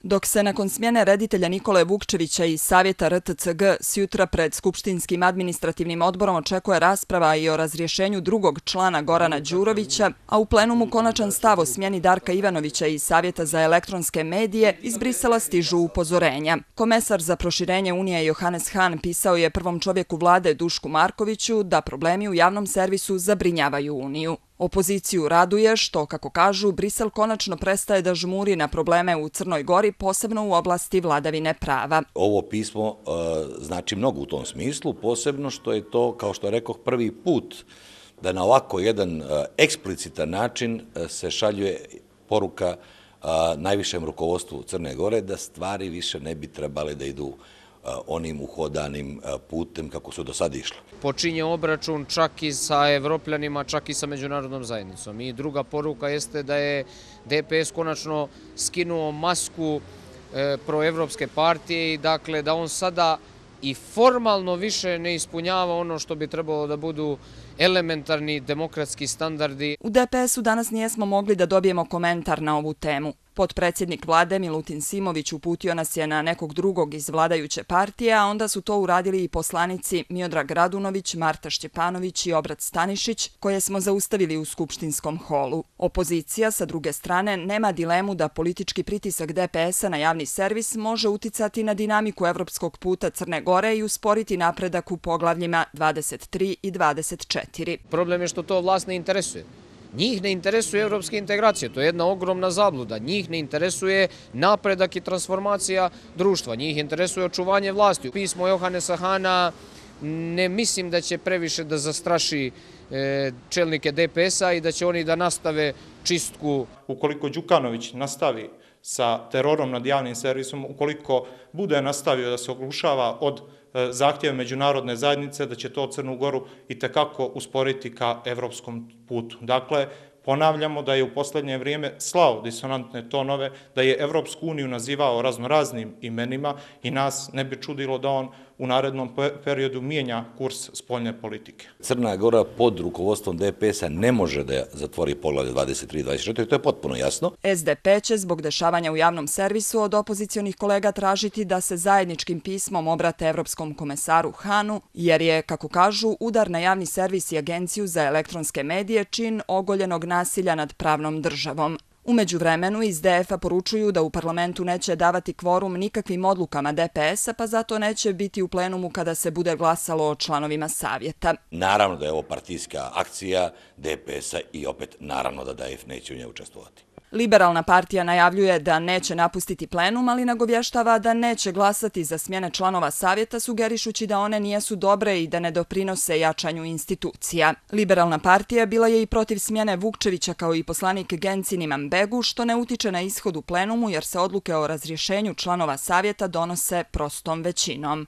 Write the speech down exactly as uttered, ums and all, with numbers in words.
Dok se nakon smjene reditelja Nikole Vukčevića iz Savjeta R T C G sjutra pred Skupštinskim administrativnim odborom očekuje rasprava i o razrješenju drugog člana Gorana Đurovića, a u plenumu konačan stav o smjeni Darka Ivanovića iz Savjeta za elektronske medije, iz Brisela stižu upozorenja. Komesar za proširenje Unije Johannes Hahn pisao je prvom čovjeku vlade Dušku Markoviću da problemi u javnom servisu zabrinjavaju Uniju. Opoziciju raduje što, kako kažu, Brisel konačno prestaje da žmuri na probleme u Crnoj Gori, posebno u oblasti vladavine prava. Ovo pismo e, znači mnogo u tom smislu, posebno što je to, kao što rekoh, prvi put da na ovako jedan e, eksplicitan način e, se šaljuje poruka e, najvišem rukovodstvu Crne Gore da stvari više ne bi trebale da idu onim uhodanim putem kako su do sada išli. Počinje obračun čak i sa Evropljanima, čak i sa međunarodnom zajednicom. I druga poruka jeste da je D P S konačno skinuo masku proevropske partije i dakle da on sada i formalno više ne ispunjava ono što bi trebalo da budu elementarni demokratski standardi. U D P S-u danas nijesmo mogli da dobijemo komentar na ovu temu. Potpredsjednik vlade Milutin Simović uputio nas je na nekog drugog iz vladajuće partije, a onda su to uradili i poslanici Miodrag Radunović, Marta Šćepanović i Obrat Stanišić, koje smo zaustavili u skupštinskom holu. Opozicija, sa druge strane, nema dilemu da politički pritisak D P S-a na javni servis može uticati na dinamiku evropskog puta Crne Gore i usporiti napredak u poglavljima dvadeset tri i dvadeset četiri. Problem je što to vlast ne interesuje. Njih ne interesuje evropske integracije, to je jedna ogromna zabluda. Njih ne interesuje napredak i transformacija društva, njih interesuje očuvanje vlasti. Pismo Johannesa Hahna ne mislim da će previše da zastraši čelnike D P S-a i da će oni da nastave čistku. Ukoliko Đukanović nastavi sa terorom nad javnim servisom, ukoliko bude nastavio da se oglušava od zahtjeva međunarodne zajednice, da će to Crnu Goru i tekako usporiti ka evropskom putu. Dakle, ponavljamo da je u posljednje vrijeme slao disonantne tonove, da je Evropsku uniju nazivao raznoraznim imenima i nas ne bi čudilo da on u narednom periodu mijenja kurs spoljne politike. Crna Gora pod rukovodstvom D P S-a ne može da zatvori poglavlje dvadeset tri i dvadeset četiri, to je potpuno jasno. S D P će zbog dešavanja u javnom servisu od opozicionih kolega tražiti da se zajedničkim pismom obrate Evropskom komesaru Hahnu, jer je, kako kažu, udar na javni servis i Agenciju za elektronske medije čin ogoljenog nasilja nad pravnom državom. U međuvremenu iz D F-a poručuju da u parlamentu neće davati kvorum nikakvim odlukama D P S-a, pa zato neće biti u plenumu kada se bude glasalo o članovima savjeta. Naravno da je ovo partijska akcija D P S-a i opet naravno da D F neće u njoj učestvovati. Liberalna partija najavljuje da neće napustiti plenum, ali nagovještava da neće glasati za smjene članova savjeta, sugerišući da one nijesu dobre i da ne doprinose jačanju institucija. Liberalna partija bila je i protiv smjene Vukčevića kao i poslanik Gencin Imanbegu, što ne utiče na ishod u plenumu jer se odluke o razrješenju članova savjeta donose prostom većinom.